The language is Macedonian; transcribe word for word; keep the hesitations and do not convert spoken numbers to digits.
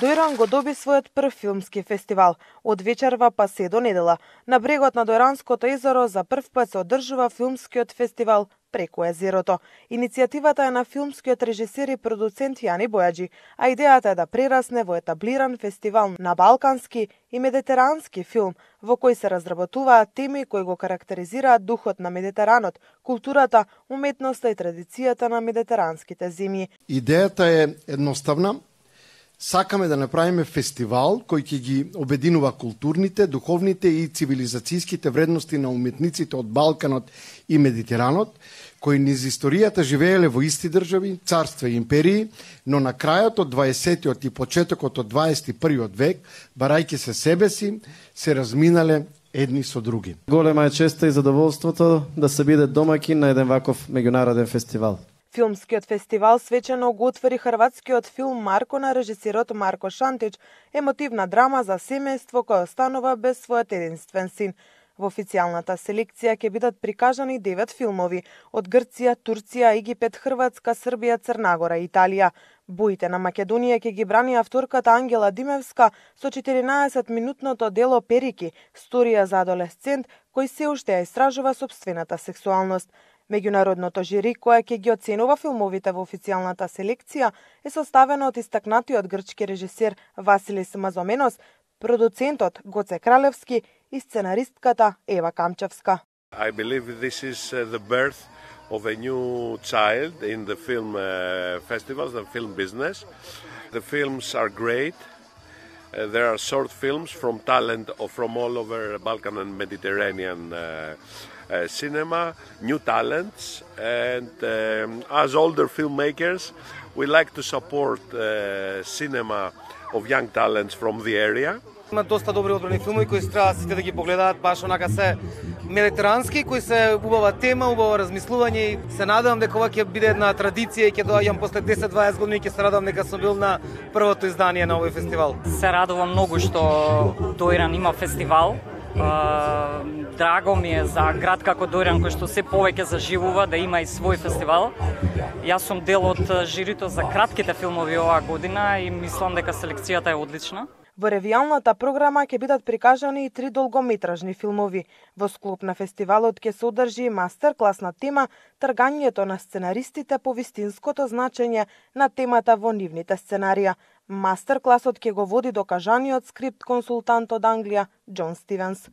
Дојран го доби својот прв филмски фестивал. Од вечерва па се до недела. На брегот на Дојранското езеро за прв пат се одржува филмскиот фестивал Преку езерото. Иницијативата е на филмскиот режисер и продуцент Јани Бојаджи, а идејата е да прерасне во етаблиран фестивал на балкански и медитерански филм, во кој се разработуваат теми кои го карактеризираат духот на Медитеранот, културата, уметноста и традицијата на медитеранските земји. Идејата е едноставна. Сакаме да направиме фестивал кој ќе ги обединува културните, духовните и цивилизацијските вредности на уметниците од Балканот и Медитеранот, кои низ историјата живееле во исти држави, царства и империи, но на крајот од дваесеттиот и почетокот од дваесет и првиот век, барајќи се себе си, се разминале едни со други. Голема е честа и задоволството да се биде домаќин на еден ваков меѓународен фестивал. Филмскиот фестивал свечено го отвори хрватскиот филм Марко на режисерот Марко Шантич, емотивна драма за семејство кој останува без својот единствен син. Во официјалната селекција ќе бидат прикажани девет филмови од Грција, Турција, Египет, Хрватска, Србија, Црнагора и Италија. Боите на Македонија ќе ги брани авторката Ангела Димевска со четиринаесет-минутното дело Перики, сторија за адолесцент кој се уште ја истражува собствената сексуалност. Меѓународното жири, кое ќе ги оценува филмовите во официјалната селекција, е составено од истакнатиот грчки режисер Василис Мазоменос, продуцентот Гоце Кралевски и сценаристката Ева Камчевска. I believe this is the birth of a new child in the film festivals, the film business. The films are great. Uh, there are short films from talent from all over Balkan and Mediterranean uh, uh, cinema, new talents, and um, as older filmmakers, we like to support uh, cinema of young talents from the area. Има доста добри одбрани филми кои треба сите да ги погледаат, баш онака се медитерански, кои се убава тема, убаво размислување и се надевам дека ова ќе биде една традиција и ќе доаѓам после десет-дваесет години и ќе се радувам дека сум бил на првото издание на овој фестивал. Се радувам многу што Дојран има фестивал. Драго ми е за град како Дојран кој што се повеќе заживува да има и свој фестивал. Јас сум дел од жирито за кратките филмови оваа година и мислам дека селекцијата е одлична. Во ревијалната програма ќе бидат прикажани и три долгометражни филмови. Во склоп на фестивалот ќе се одржи мастер-клас на тема тргањето на сценаристите по вистинското значење на темата во нивните сценарија. Мастер-класот ќе го води докажаниот скрипт консултант од Англија Џон Стивенс.